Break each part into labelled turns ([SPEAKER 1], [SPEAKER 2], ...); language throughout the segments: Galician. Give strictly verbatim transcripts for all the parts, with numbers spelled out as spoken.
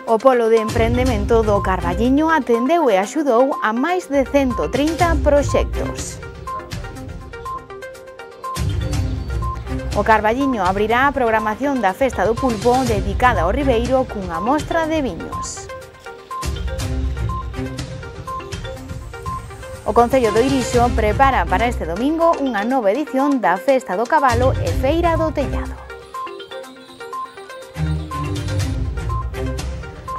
[SPEAKER 1] O Polo de Emprendemento do Carballiño atendeu e axudou a máis de cento trinta proxectos. O Carballiño abrirá a programación da Festa do Pulpo dedicada ao Ribeiro cunha mostra de viños. O Concello do Irixo prepara para este domingo unha nova edición da Festa do Cabalo e Feira do Tellado.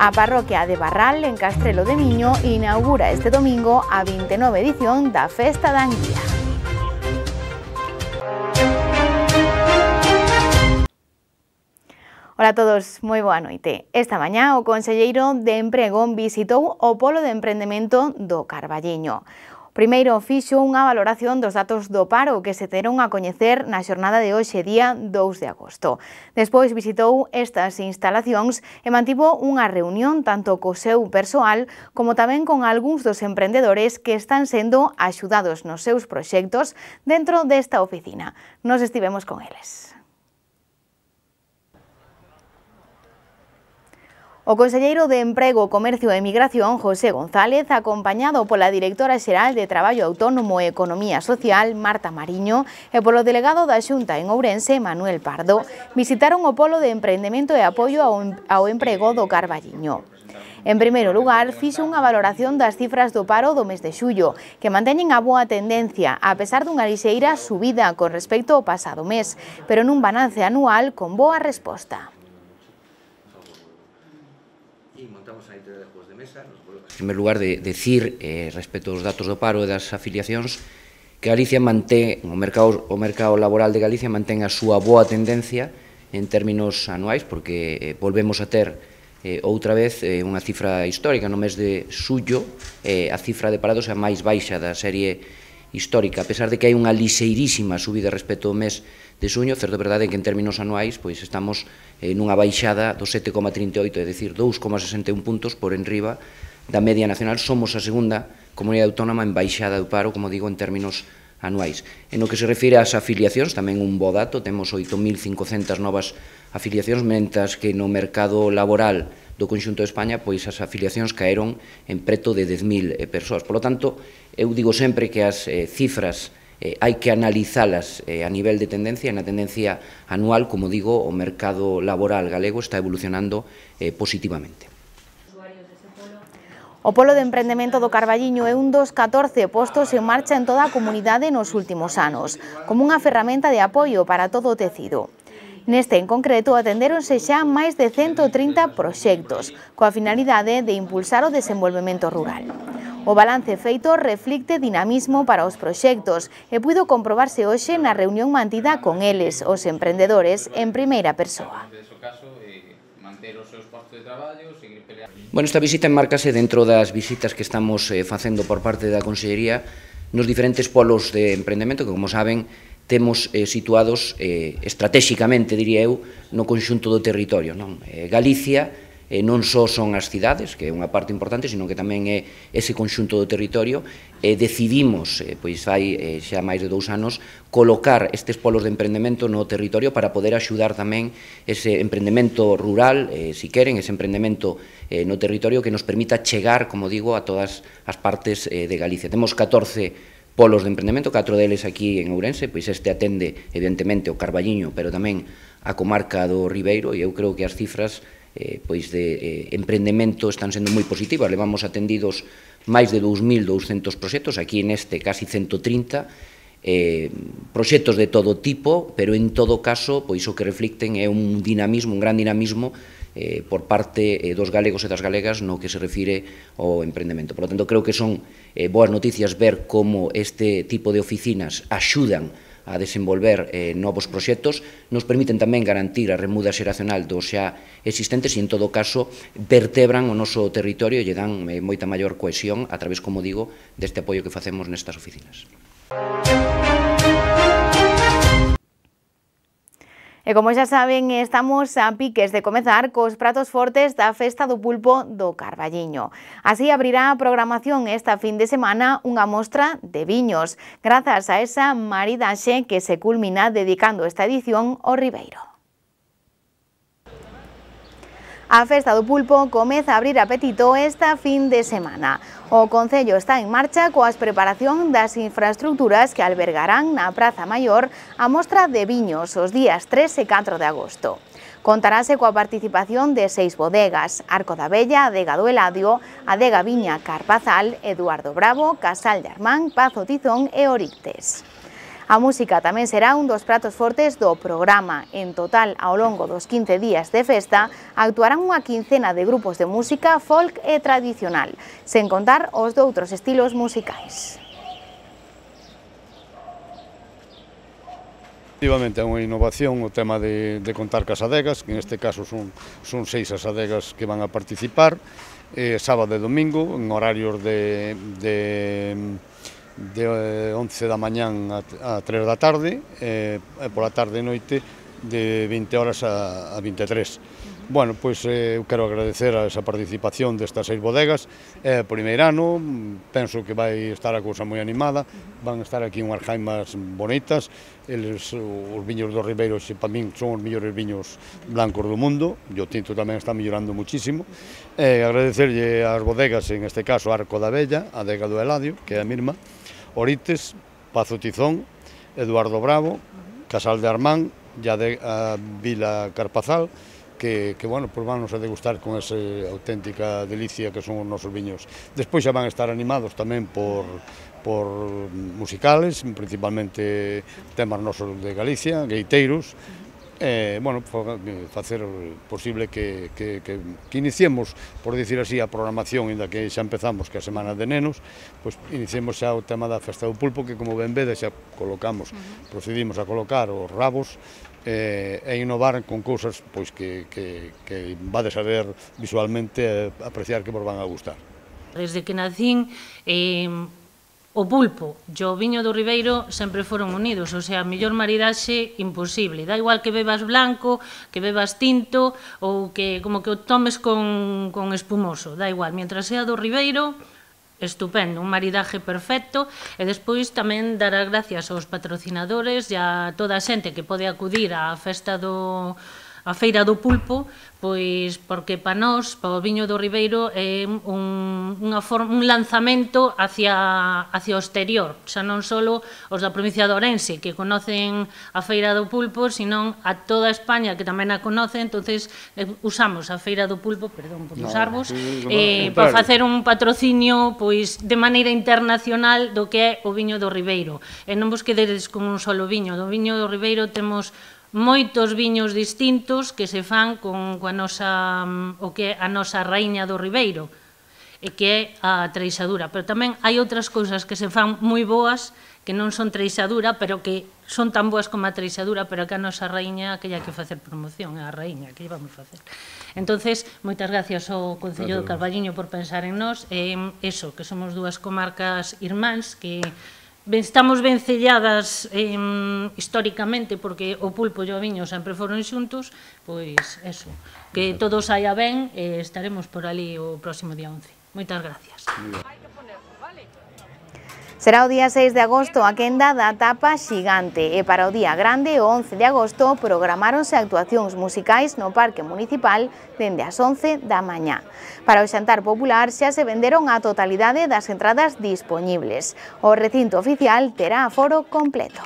[SPEAKER 1] A parroquia de Barral, en Castrelo de Miño, inaugura este domingo a vinte e nove edición da Festa da Anguía. Ola a todos, moi boa noite. Esta mañá o conselleiro de Emprego visitou o Polo de Emprendemento do Carballiño. Primeiro fixo unha valoración dos datos do paro que se terán a coñecer na xornada de hoxe, día dous de agosto. Despois visitou estas instalacións e mantivo unha reunión tanto co seu persoal como tamén con algúns dos emprendedores que están sendo axudados nos seus proxectos dentro desta oficina. Nos estivemos con eles. O conselleiro de Emprego, Comercio e Migración, José González, acompañado pola directora xeral de Traballo Autónomo e Economía Social, Marta Mariño, e polo delegado da Xunta en Ourense, Manuel Pardo, visitaron o Polo de Emprendemento e Apoio ao Emprego do Carballiño. En primeiro lugar, fixo unha valoración das cifras do paro do mes de xullo, que manteñen a boa tendencia, a pesar dunha lixeira subida con respecto ao pasado mes, pero nun balance anual con boa resposta.
[SPEAKER 2] En primeiro lugar, de decir, eh, respecto aos datos do paro e das afiliacións, que Galicia mantén, o mercado, o mercado laboral de Galicia mantén a súa boa tendencia en términos anuais, porque eh, volvemos a ter eh, outra vez eh, unha cifra histórica no mes de xullo, eh, a cifra de parados é a máis baixa da serie histórica, a pesar de que hai unha lixeirísima subida respecto ao mes de xuño, certo é verdade que en términos anuais pois estamos eh, nunha baixada do sete coma trinta e oito, é dicir, dous coma sesenta e un puntos por enriba da media nacional. Somos a segunda comunidade autónoma en baixada do paro, como digo, en términos anuais. En o que se refire ás afiliacións, tamén un bo dato, temos oito mil cincocentas novas afiliacións, mentras que no mercado laboral do conxunto de España, pois as afiliacións caeron en preto de dez mil persoas. Por lo tanto, eu digo sempre que as eh, cifras eh, hai que analizalas eh, a nivel de tendencia, e na tendencia anual, como digo, o mercado laboral galego está evolucionando eh, positivamente.
[SPEAKER 1] O Polo de Emprendemento do Carballiño é un dos catorce postos en marcha en toda a comunidade nos últimos anos, como unha ferramenta de apoio para todo o tecido. Neste en concreto atendéronse xa máis de cento trinta proxectos, coa finalidade de impulsar o desenvolvemento rural. O balance feito reflicte dinamismo para os proxectos e puido comprobarse hoxe na reunión mantida con eles, os emprendedores, en primeira persoa.
[SPEAKER 2] Bueno, esta visita enmárcase dentro das visitas que estamos eh, facendo por parte da Consellería nos diferentes polos de emprendemento que, como saben, temos eh, situados eh, estratéxicamente, diría eu, no conxunto do territorio. Non? Eh, Galicia eh, non só son as cidades, que é unha parte importante, sino que tamén é ese conxunto do territorio. Eh, decidimos, eh, pois hai eh, xa máis de dous anos, colocar estes polos de emprendemento no territorio para poder axudar tamén ese emprendemento rural, eh, si queren, ese emprendemento eh, no territorio que nos permita chegar, como digo, a todas as partes eh, de Galicia. Temos catorce polos de emprendemento, catro deles aquí en Ourense, pois este atende, evidentemente, o Carballiño, pero tamén a comarca do Ribeiro, e eu creo que as cifras eh, pois de eh, emprendemento están sendo moi positivas. Levamos atendidos máis de dous mil douscentos proxectos, aquí neste casi cento trinta, eh, proxectos de todo tipo, pero en todo caso, pois o que reflicten é un dinamismo, un gran dinamismo eh, por parte eh, dos galegos e das galegas no que se refire ao emprendemento. Por lo tanto, creo que son eh, boas noticias ver como este tipo de oficinas axudan a desenvolver eh, novos proxectos, nos permiten tamén garantir a remuda xeracional dos xa existentes e, en todo caso, vertebran o noso territorio e lle dan eh, moita maior cohesión a través, como digo, deste apoio que facemos nestas oficinas.
[SPEAKER 1] E como xa saben, estamos a piques de comezar cos pratos fortes da Festa do Pulpo do Carballiño. Así abrirá a programación esta fin de semana unha mostra de viños, grazas a esa maridaxe que se culmina dedicando esta edición ao Ribeiro. A Festa do Pulpo comeza a abrir apetito esta fin de semana. O Concello está en marcha coas preparación das infraestructuras que albergarán na Praza Maior a mostra de viños os días tres e catro de agosto. Contarase coa participación de seis bodegas: Arco da Vella, Adega do Eladio, Adega Viña Carpazal, Eduardo Bravo, Casal de Armán, Pazo Tizón e Orictes. A música tamén será un dos pratos fortes do programa. En total, ao longo dos quince días de festa, actuarán unha quincena de grupos de música folk e tradicional, sen contar os doutros estilos musicais.
[SPEAKER 3] Efectivamente, é unha innovación o tema de, de contar cas adegas, que neste caso son, son seis as adegas que van a participar, eh, sábado e domingo, en horarios de... de de once da mañán a tres da tarde e pola tarde e noite de vinte horas a vinte e tres. Bueno, pois eu quero agradecer a esa participación destas seis bodegas. É o primeiro ano, penso que vai estar a cousa moi animada, van estar aquí unhas jaimas bonitas, eles, os viños do Ribeiro, xe, para min, son os mellores viños blancos do mundo, e o tinto tamén está mellorando muchísimo. E agradecerlle ás bodegas, en este caso Arco da Vella, Adega do Eladio, que é a mesma, Orictes, Pazo Tizón, Eduardo Bravo, Casal de Armán e a Vila Carpazal, que, que bueno, pues van a degustar con esa auténtica delicia que son os nosos viños. Despois xa van a estar animados tamén por, por musicales, principalmente temas nosos de Galicia, gaiteiros, Eh, bueno, facer posible que, que, que, que iniciemos, por dicir así, a programación, inda que xa empezamos que a Semana de Nenos, pois iniciemos xa o tema da Festa do Pulpo, que como ben vedes xa colocamos, procedimos a colocar os rabos eh, e innovar con cousas pois, que, que, que vades a ver visualmente e apreciar que vos van a gustar.
[SPEAKER 4] Desde que nacín, eh, o pulpo e o viño do Ribeiro sempre foron unidos, o sea, a mellor maridaxe imposible. Da igual que bebas blanco, que bebas tinto ou que como que o tomes con, con espumoso, da igual. Mientras sea do Ribeiro, estupendo, un maridaje perfecto. E despois tamén dar as gracias aos patrocinadores e a toda a xente que pode acudir á festa do... a Feira do Pulpo, pois porque para nós, para o viño do Ribeiro, é un, unha forma, un lanzamento hacia, hacia o exterior, xa non só os da provincia de Ourense, que conocen a Feira do Pulpo, senón a toda España, que tamén a conoce. Entonces usamos a Feira do Pulpo, perdón por usarvos, eh, para facer un patrocinio pois de maneira internacional do que é o viño do Ribeiro. E non vos quededes con un solo viño. Do viño do Ribeiro temos moitos viños distintos que se fan con, con a nosa, o que é a nosa raíña do Ribeiro, e que é a treixadura. Pero tamén hai outras cousas que se fan moi boas, que non son treixadura, pero que son tan boas como a treixadura, pero que a nosa raíña que hai que facer promoción, é a raíña que vamos facer. Entonces, moitas gracias ao Concello do Carballiño por pensar en nós, e eso, que somos dúas comarcas irmáns, que estamos ben selladas eh, históricamente, porque o pulpo e o viño sempre foron xuntos, pois eso, que todo saia ben, e estaremos por ali o próximo día once. Moitas gracias.
[SPEAKER 1] Será o día seis de agosto a quenda da tapa xigante e para o día grande, o once de agosto, programáronse actuacións musicais no Parque Municipal dende as once da mañá. Para o xantar popular xa se venderon a totalidade das entradas dispoñibles. O recinto oficial terá aforo completo.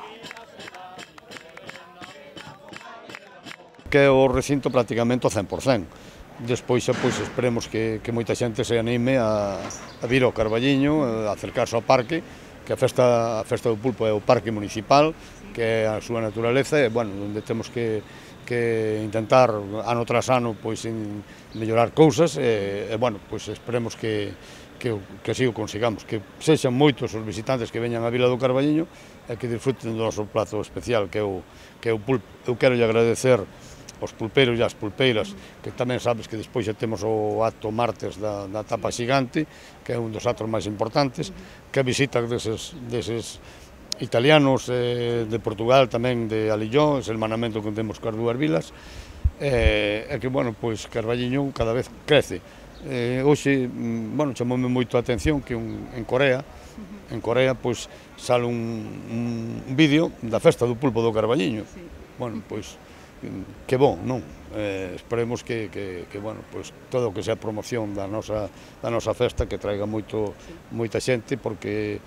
[SPEAKER 3] Que é o recinto prácticamente ao cen por cen. Despois xa pois, esperemos que, que moita xente se anime a, a vir ao Carballiño, a acercarse ao parque, que a festa, a festa do pulpo é o parque municipal, que é a súa naturaleza, e, bueno, onde temos que, que intentar, ano tras ano, pois, en mellorar cousas, e, e bueno, pois, esperemos que, que, que así o consigamos, que sexan moitos os visitantes que veñan á Vila do Carballiño e que disfruten do noso prato especial, que é o, que é o pulpo. Eu quero lle agradecer os pulpeiros e as pulpeiras, que tamén sabes que despois xa temos o acto martes da, da tapa xigante, que é un dos actos máis importantes, que a visita deses, deses italianos eh, de Portugal, tamén de Alillón, ese hermanamento que temos coas dúas vilas, e eh, que, bueno, pois Carballiño cada vez crece. Eh, hoxe, bueno, chamoume moito a atención que un, en Corea, en Corea, pois, sale un, un vídeo da festa do pulpo do Carballiño. Bueno, pois, que bon, non? eh, esperemos que, que, que bueno, pues, todo o que sea promoción da nosa, da nosa festa, que traiga moito, moita xente, porque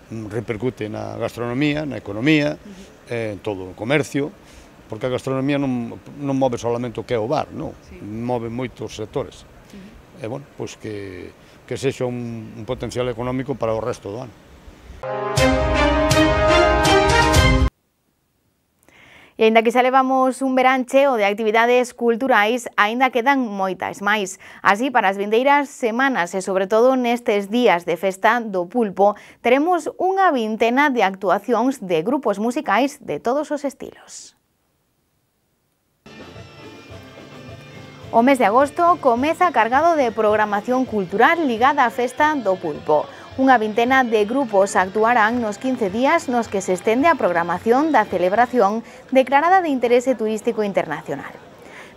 [SPEAKER 3] repercute na gastronomía, na economía, eh, en todo o comercio, porque a gastronomía non, non move solamente o que é o bar, non, move moitos sectores. E, bueno, pois que, que sexa un, un potencial económico para o resto do ano.
[SPEAKER 1] E aínda que xa levamos un verán cheo de actividades culturais, aínda quedan moitas máis. Así, para as vindeiras semanas e sobre todo nestes días de festa do pulpo, teremos unha vintena de actuacións de grupos musicais de todos os estilos. O mes de agosto comeza cargado de programación cultural ligada á festa do pulpo. Unha vintena de grupos actuarán nos quince días nos que se estende a programación da celebración declarada de interese turístico internacional.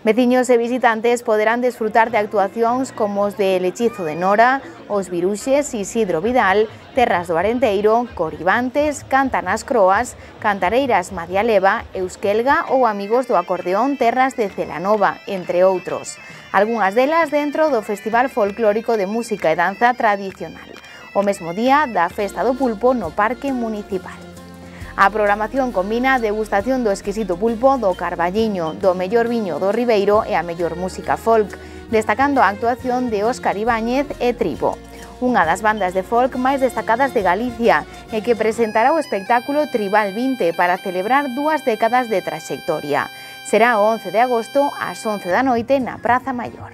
[SPEAKER 1] Veciños e visitantes poderán desfrutar de actuacións como os de Lechizo de Nora, Os Viruxes, Isidro Vidal, Terras do Arenteiro, Coribantes, Cantan as Croas, Cantareiras Madialeva, Euskelga ou Amigos do Acordeón Terras de Celanova, entre outros. Algunhas delas dentro do Festival Folclórico de Música e Danza Tradicional, o mesmo día da Festa do Pulpo no Parque Municipal. A programación combina a degustación do exquisito pulpo do Carballiño, do mellor viño do Ribeiro e a mellor música folk, destacando a actuación de Óscar Ibáñez e Tribo, unha das bandas de folk máis destacadas de Galicia e que presentará o espectáculo Tribal vinte para celebrar dúas décadas de traxectoria. Será o once de agosto ás once da noite na Praza Maior.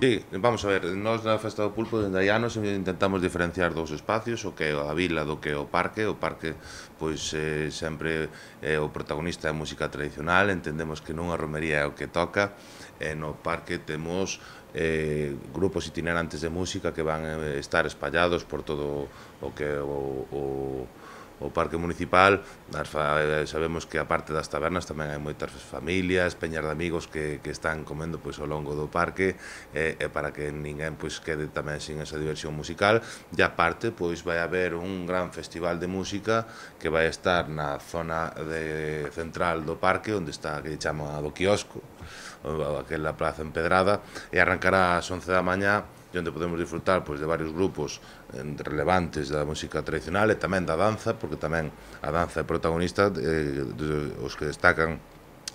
[SPEAKER 5] Sí, vamos a ver, nós na Festa do Pulpo dende hai anos intentamos diferenciar dous espacios, o que é a vila do que é o parque. O parque, pois, eh, sempre é o protagonista da música tradicional, entendemos que nunha romería é o que toca, e no parque temos eh, grupos itinerantes de música que van eh, estar espallados por todo o que é o, o o Parque Municipal. Sabemos que a parte das tabernas tamén hai moitas familias, peñas de amigos que, que están comendo pois, ao longo do parque, e, e para que ninguén pois, quede tamén sin esa diversión musical. E a parte pois, vai haber un gran festival de música que vai estar na zona de, central do parque, onde está, que chama do quiosco, aquela plaza empedrada, e arrancará ás once da mañá, onde podemos disfrutar pois, de varios grupos eh, relevantes da música tradicional e tamén da danza, porque tamén a danza é protagonista, eh, de, os que destacan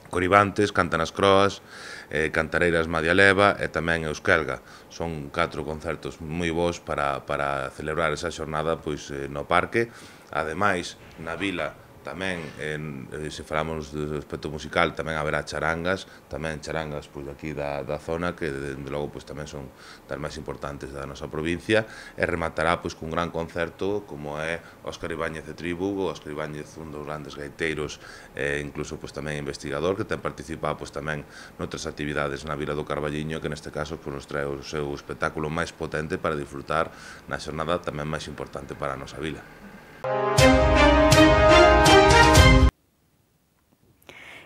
[SPEAKER 5] Coribantes, Cantan as Croas, eh, Cantareiras Madialeva e tamén Euskelga. Son catro concertos moi bons para, para celebrar esa xornada pois, eh, no parque. Ademais, na vila tamén, en, se falamos do aspecto musical, tamén haberá charangas, tamén charangas pois, aquí da, da zona, que dende logo pois, tamén son das máis importantes da nosa provincia, e rematará pois, cun gran concerto como é Óscar Ibáñez de Tribu. O Óscar Ibáñez, un dos grandes gaiteiros, e incluso pois, tamén investigador, que ten participado pois, tamén noutras actividades na Vila do Carballiño, que neste caso pois, nos trae o seu espectáculo máis potente para disfrutar na xornada tamén máis importante para a nosa vila.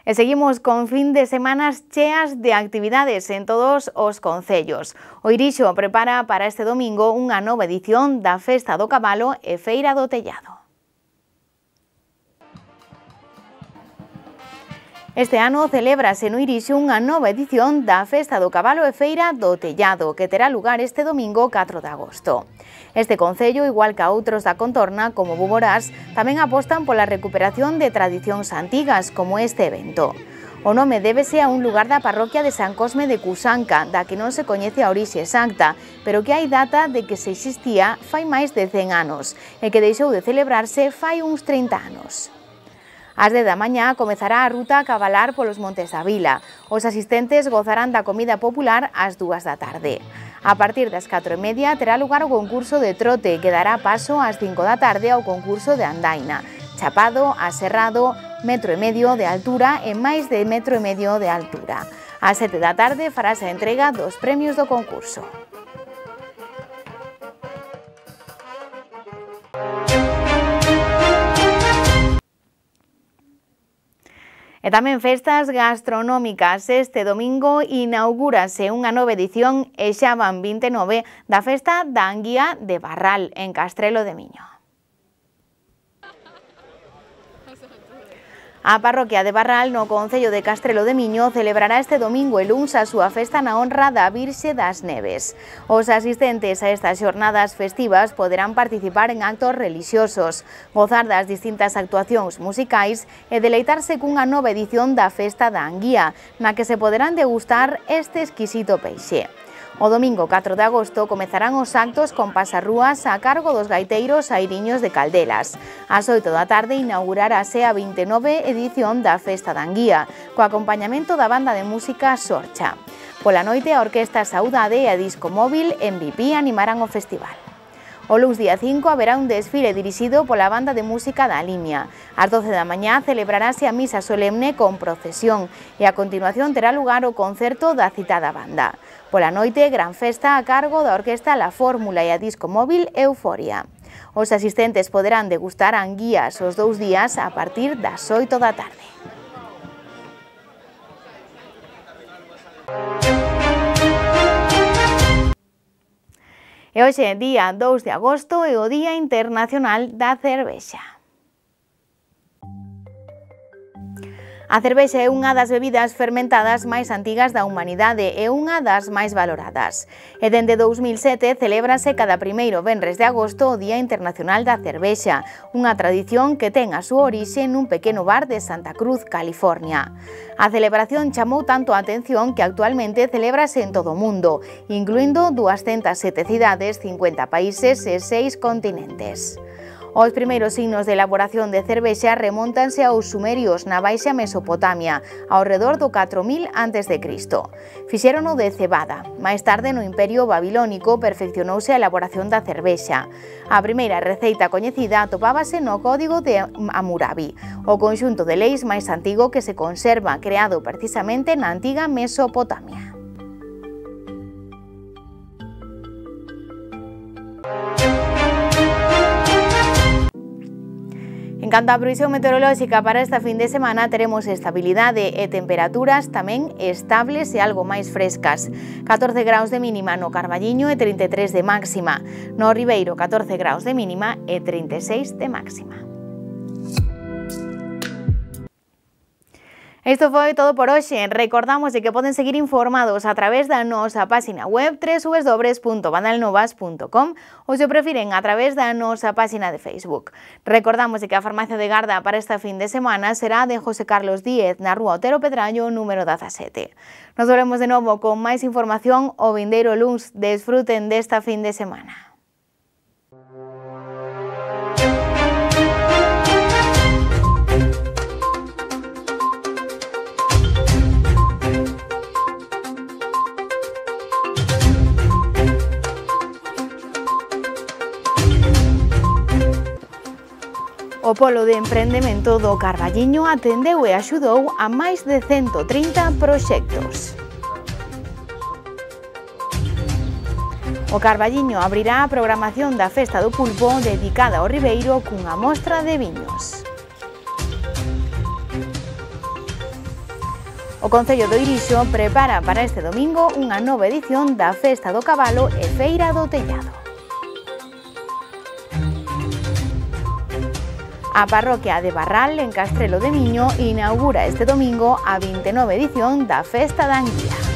[SPEAKER 1] E seguimos con fin de semanas cheas de actividades en todos os concellos. O Irixo prepara para este domingo unha nova edición da Festa do Cabalo e Feira do Tellado. Este ano celébrase no Irixo unha nova edición da Festa do Cabalo e Feira do Tellado, que terá lugar este domingo catro de agosto. Este concello, igual que a outros da contorna, como Buborás, tamén apostan pola recuperación de tradicións antigas, como este evento. O nome débese a un lugar da parroquia de San Cosme de Cusanca, da que non se coñece a orixe exacta, pero que hai data de que se existía fai máis de cen anos, e que deixou de celebrarse fai uns trinta anos. Ás dez da mañá comezará a ruta a cabalar polos Montes da Vila. Os asistentes gozarán da comida popular ás dúas da tarde. A partir das catro e media terá lugar o concurso de trote, que dará paso ás cinco da tarde ao concurso de andaina, chapado, aserrado, metro e medio de altura e máis de metro e medio de altura. Ás sete da tarde farase a entrega dos premios do concurso. E tamén festas gastronómicas. Este domingo inaugúrase unha nova edición, e xa van vinte e nove, da Festa da Anguía de Barral, en Castrelo de Miño. A parroquia de Barral, no concello de Castrelo de Miño, celebrará este domingo e luns a súa festa na honra da Virxe das Neves. Os asistentes a estas xornadas festivas poderán participar en actos relixiosos, gozar das distintas actuacións musicais e deleitarse cunha nova edición da Festa da Anguía, na que se poderán degustar este exquisito peixe. O domingo catro de agosto comezarán os actos con pasarrúas a cargo dos gaiteiros airiños de Caldelas. Ás oito da tarde inaugurarase a vinte e nove edición da Festa da Anguía, co acompañamento da banda de música Sorcha. Pola noite, a Orquesta Saudade e a Disco Móvil M V P animarán o festival. O luns día cinco haberá un desfile dirixido pola banda de música da Limia. Ás doce da mañá celebrarase a misa solemne con procesión e a continuación terá lugar o concerto da citada banda. Pola noite, gran festa a cargo da Orquesta La Fórmula e a Disco Móvil Euforia. Os asistentes poderán degustar anguías os dous días a partir das oito da tarde. E hoxe, día dous de agosto, é o Día Internacional da Cervexa. A cervexa é unha das bebidas fermentadas máis antigas da humanidade e unha das máis valoradas. E dende dous mil sete celébrase cada primeiro venres de agosto o Día Internacional da Cervexa, unha tradición que ten a súa orixe nun pequeno bar de Santa Cruz, California. A celebración chamou tanto a atención que actualmente celébrase en todo o mundo, incluindo duascentas sete cidades, cincuenta países e seis continentes. Os primeiros signos de elaboración de cervexa remóntanse aos sumerios na Baixa Mesopotamia, ao redor do catro mil antes de Cristo. Fixérono de cebada. Máis tarde, no Imperio Babilónico, perfeccionouse a elaboración da cervexa. A primeira receita coñecida atopábase no Código de Hammurabi, o conxunto de leis máis antigo que se conserva, creado precisamente na antiga Mesopotamia. En canto á previsión meteorolóxica para esta fin de semana, teremos estabilidade e temperaturas tamén estables e algo máis frescas. catorce graus de mínima no Carballiño e trinta e tres de máxima. No Ribeiro, catorce graus de mínima e trinta e seis de máxima. Isto foi todo por hoxe. Recordamos de que poden seguir informados a través da nosa página web w w w punto banalnovas punto com ou, se prefiren, a través da nosa página de Facebook. Recordamos de que a farmacia de garda para esta fin de semana será de José Carlos Díez, na rúa Otero Pedrallo, número dezasete. Nos volvemos de novo con máis información o vindeiro luns. Desfruten desta fin de semana. O Polo de Emprendemento do Carballiño atendeu e axudou a máis de cento trinta proxectos. O Carballiño abrirá a programación da Festa do Pulpo dedicada ao Ribeiro cunha mostra de viños. O Concello do Irixo prepara para este domingo unha nova edición da Festa do Cabalo e Feira do Tellado. A parroquia de Barral, en Castrelo de Miño, inaugura este domingo a vinte e nove edición da Festa da Anguía.